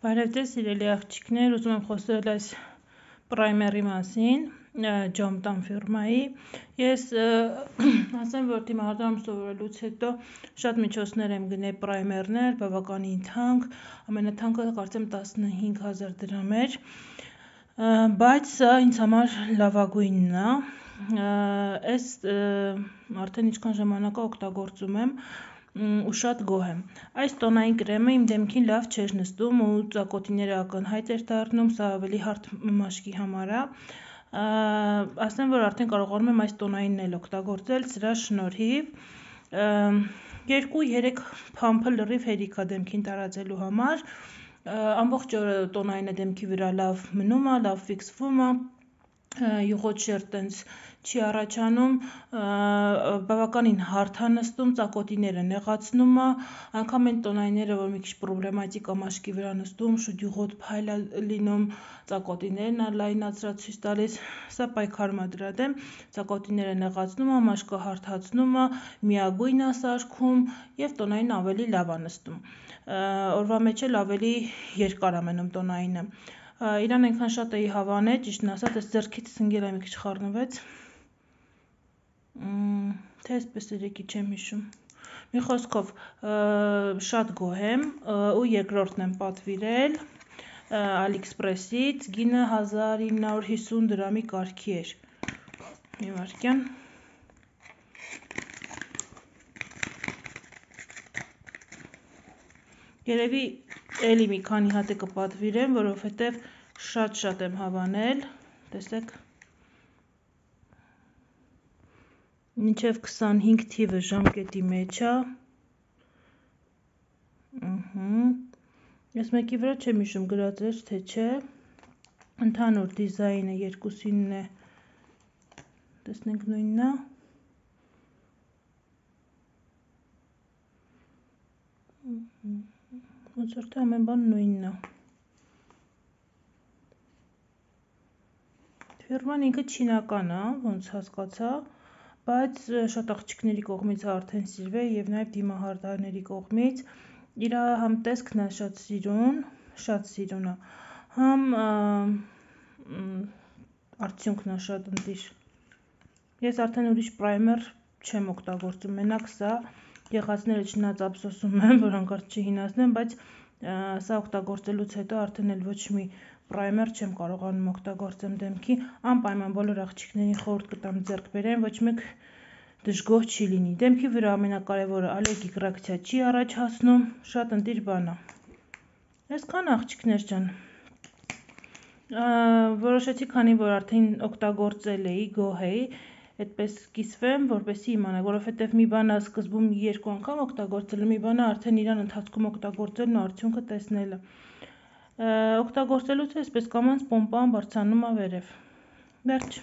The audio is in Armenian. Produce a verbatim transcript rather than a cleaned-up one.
Բարև ձեզ սիրելի աղջիկներ, ուզում եմ խոսել այս պրայմերի մասին, Ջոմտան ֆիրմայի։ Ես ասեմ, որ դիմահարդարում սովորելուց հետո շատ միջոցներ եմ գնել պրայմերներ, բավականին թանկ, ամենաթանկը կարծեմ տասնհինգ հազար դրամ էր, բայց սա ինձ համար լավագույնն է, ես արդեն ինչքան ժամանակա օգտագործում եմ ու շատ գոհ եմ։ Այս տոնային կրեմը իմ դեմքին լավ չէր նստում ու ծակոտիները ակնհայտ էր դառնում, սա ավելի հարթ մաշկի համար է։ Ասեմ, որ արդեն կարողանում եմ այս տոնայինն էլ օգտագործել սրա շնորհիվ։ Երկու-երեք փամփը լրիվ հերիք է դեմքին տարածելու համար։ Ամբողջ օրը տոնայինը դեմքի վրա լավ մնում է, լավ ֆիքսվում է, յուղոտ շերտ տենց չի առաջանում, բավականին հարթ է նստում, ծակոտիները նեղացնում է, անգամ այն տոնայինները, որ մի քիչ պրոբլեմատիկ է մաշկի վրա նստում, շուտ յուղոտ փայլ է լինում, ծակոտիներն է լայնացրած ցույց տալիս, սա պայքարում է դրա դեմ, ծակոտիները նեղացնում է, մաշկը հարթացնում է, միագույն է սարքում և տոնայինը ավելի լավ է նստում։ Օրվա մեջ էլ ավելի երկար է մնում տոնայինը։ Իրան այնքան շատ էի հավանել, ճիշտն ասած, այս ձեռքիցս ընկել է մի քիչ խառնվեց, թե այսպես երեկի չեմ հիշում։ Մի խոսքով շատ գոհ եմ ու երկրորդն եմ պատվիրել Ալիեքսպրեսից, գինը հազար ինը հարյուր հիսուն դրամի կարգի էր։ Մի վայրկյան։ Երևի էլի մի քանի հատ է կպատվիրեմ, որովհետև շատ-շատ եմ հավանել, տեսեք, մինչև քսանհինգ թիվը ժամկետի մեջ է, ես մեկի վրա չեմ հիշում գրած էր, թե չէ, ընդհանուր դիզայնը երկուսինն է, տեսնենք նույնն է, ոնց որ թե ամեն բան նույնն է։ Ֆիրման ինքը չինական է, ոնց հասկացա, բայց շատ աղջիկների կողմից արդեն սիրվել և նաև դիմահարդարների կողմից, իր համ տեսքն է շատ սիրուն, շատ սիրուն է, համ արդյունքն է շատ ընտիր։ Ես արդեն ուրիշ պրայմեր չեմ օգտագործում, մենակ սա, եղածները չնայած ափսոսում եմ, որ հանկարծ չհինացնեմ, բայց սա օգտագործելուց հետո արդեն էլ ոչ մի պրայմեր չեմ կարողանում օգտագործեմ դեմքի, անպայման բոլոր աղջիկներին խորհուրդ կտամ ձեռք բերեն, ոչ մեկ դժգոհ չի լինի։ Դեմքի վրա ամենակարևորը ալերգիկ ռեակցիա չի առաջացնում, շատ ընտիր բան է։ Այսքան աղջիկներ ջան։ Որոշեցի, քանի որ արդեն օգտագործել էի, գոհ էի, այդպես կիսվեմ, որպեսզի իմանաք, որովհետև մի բան է սկզբում երկու անգամ օգտագործելը, մի բան է արդեն իրան ընթացքում օգտագործելն ու արդյունքը տեսնելը։ Օգտագործելուց այսպես կամաց պոմպան բարձրանում է վերև։ Վերջ։